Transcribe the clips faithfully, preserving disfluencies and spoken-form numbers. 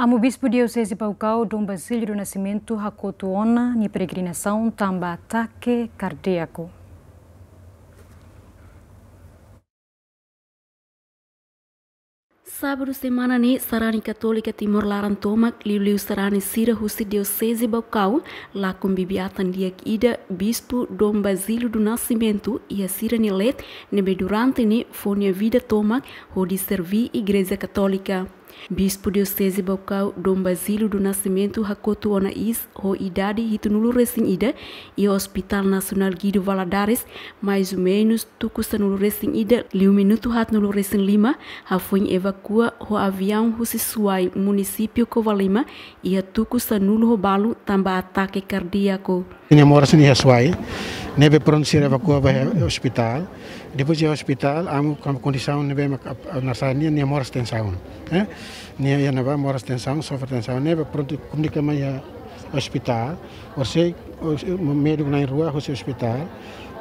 Amu Bispu Dioseze Baucau, Dom Basílio do Nascimento, hakotu ona nia peregrinasaun tanba atake kardíaku. Sábadu semana ne'e, sarani Katólika Timor laran tomak, liuliu sarani sira husi Dioseze Baucau, lakon bibi atan di'ak ida, Bispu Dom Basílio do Nascimento, iha sira-nia leet, ne'ebé durante ne'e fó nia vida tomak hodi serví Igreja Katólika. Bispu Dioseze Baucau, Dom Basílio do Nascimento, hakotu ona iis ho idade hitunulu resin ida, iha Hospital Nasionál Guido Valadares, mais ou menus tuku sanulu resin ida, liu minutu haatnulu resin lima, hafoin evakua ho aviaun husi Suai, munisípiu Covalima, iha tuku sanulu ho balu tanba atake kardíaku. Nia moras ne'e iha Suai, ne'ebé prontu sira evakua ba iha ospitál. Depois iha ospitál, amu, amu kondisaun ne'ebé mak ap-, ap-, narsá nia, nia moras tensaun. Eh? Nia iha ne'ebá moras tensaun, sofre tensaun. Ne'ebé prontu komunika mai iha ospitál. Orsida, os-, médiku na'in rua husi ospitál.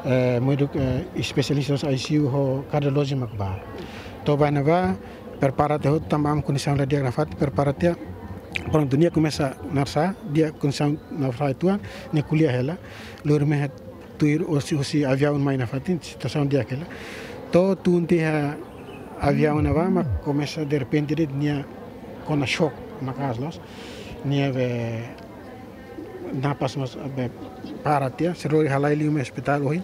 Eh, médiku, eh, espesialista husi I C U ho kardiolojia mak bá. To'o bá ne'ebá, prepara tiha hotu tanba amu kondisaun la di'ak nafatin, prepara tiha. Prontu, nia komesa narsá, di'ak kondisaun nafatin, nia ko'alia hela. Lori mehi tuir husi, husi aviaun mai nafatin, situasaun di'ak hela. To'o tun tiha aviaun ne'ebá mak komesa derrepente de'it nia kona xok maka'as loos. Nia be napas mós be para tiha, sira lori halai liu mai ospitál ohin.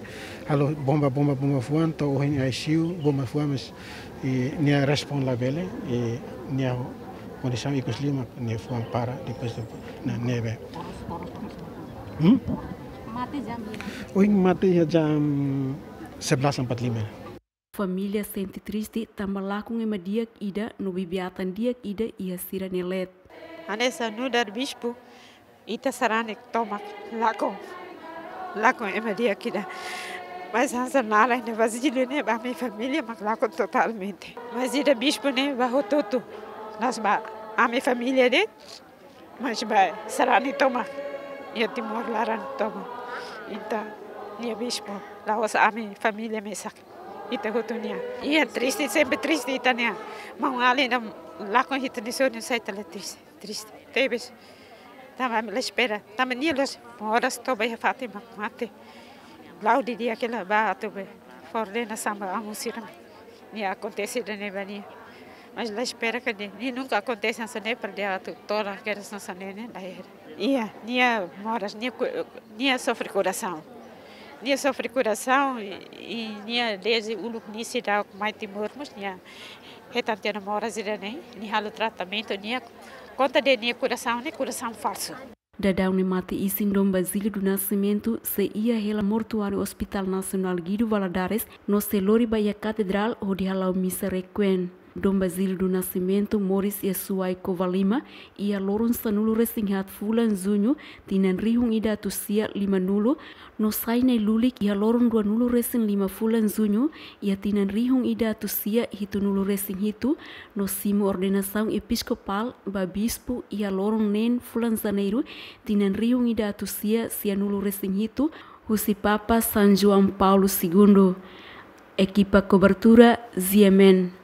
Halo bomba, bomba, bomba fuan, to'o ohin I C U, bomba fuan, mas, i, nia respon labele, i, nia kondisaun ikus liu mak nia fuan para, depois de, na, ne'ebé. Hmm? Mate jam hira? Ohin mate iha jam sebelas empat lima. Família sente triste tanba lakon ema di'ak ida no bibi atan di'ak ida iha sira-nia leet. Hanesan nu'udar bispu, ita sarani tomak lakon, lakon ema di'ak ida. Mas hanesan naran ne'e Basílio ne'e, ba ami família mak lakon totalmente. Mas ida bispu ne'e ba hotu-hotu. La'ós ba ami família de'it, mas ba sarani tomak. Iha Timor laran tomak. Entaun, nia bispu, la'ós ami família mesak. Ita hotu nia. Iha triste, sempre triste ita-nia. Maun-alin ida lakon hitu nia sorin sai tala triste, triste. Tebes. Tanba ami la espera. Tanba nia la'ós moras to'o ba iha fatin mak mate. La'o didi'ak hela ba atu be fó ordenasaun ba amu sira. Nia akontese ida-ne'e ba nia. Mas la espera katak nia nunka akontese hanesan ne'e, para atu tola kedas hanesan ne'e, ne'e, la era. Iha, nia moras, nia ku-, nia sofre korasaun. Nia sofre korasaun i, i nia dezde uluk nia seidauk mai Timor mós nia hetan tiha ona moras ida-ne'e, nia halo tratamentu, nia konta dehan nia korasaun ne'e korasaun falsu. Daudaun ne'e mate-isin Dom Basílio do Nascimento sei iha hela mortuáriu Hospital Nasionál Guido Valadares, no sei lori ba iha Katedrál hodi hala'o misa requiem. Dom Basílio do Nascimento moris iha Suai Covalima, iha loron sanulu resin haat fulan Juñu, tinan rihun ida atus sia limanulu, no sai nai-lulik iha loron ruanulu resin lima fulan Juñu, iha tinan rihun ida atus sia hitunulu resin hitu, no simu ordenasaun episkopál ba bispu iha loron neen fulan Janeiru, tinan rihun ida atus sia sianulu resin hitu, husi Papa São João Paulo Segundo. Ekipa kobertura, G M N.